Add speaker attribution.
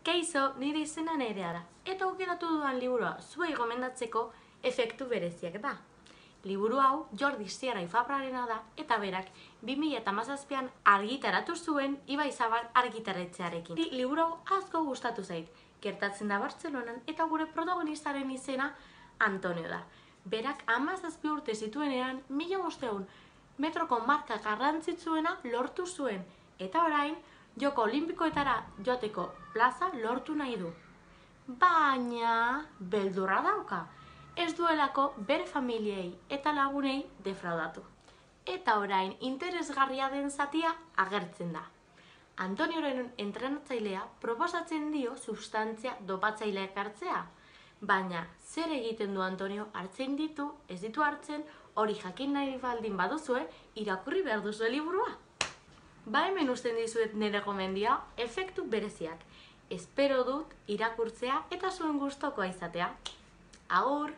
Speaker 1: Kaixo, nire izena Nerea da, eta aukeratu dudan liburua zuei gomendatzeko efektu bereziak da. Liburu hau Jordi Sierra y Fabrarena da, eta berak 2017an argitaratu zuen Ibaizabal argitaretxearekin. Liburu hau asko gustatu zait, gertatzen da Bartzelonan eta gure protagonistaren izena Antonio da. Berak 17 urte zituenean 1500 metroko marka garrantzitsuena lortu zuen, eta orain Joko Olimpikoetara joateko plaza lortu nahi du. Baina beldurra dauka, ez duelako bere familiei eta lagunei defraudatu. Eta orain interesgarria den zatia agertzen da. Antonioren entrenatzailea proposatzen dio substantzia dopatzaileak hartzea. Baina zer egiten du Antonio? Hartzen ditu, ez ditu hartzen, hori jakin nahi baldin baduzue, irakurri behar duzue liburua. Ba hemen usten dizuet nire gomendia, efektu bereziak. Espero dut irakurtzea eta zuen gustokoa izatea. Agur!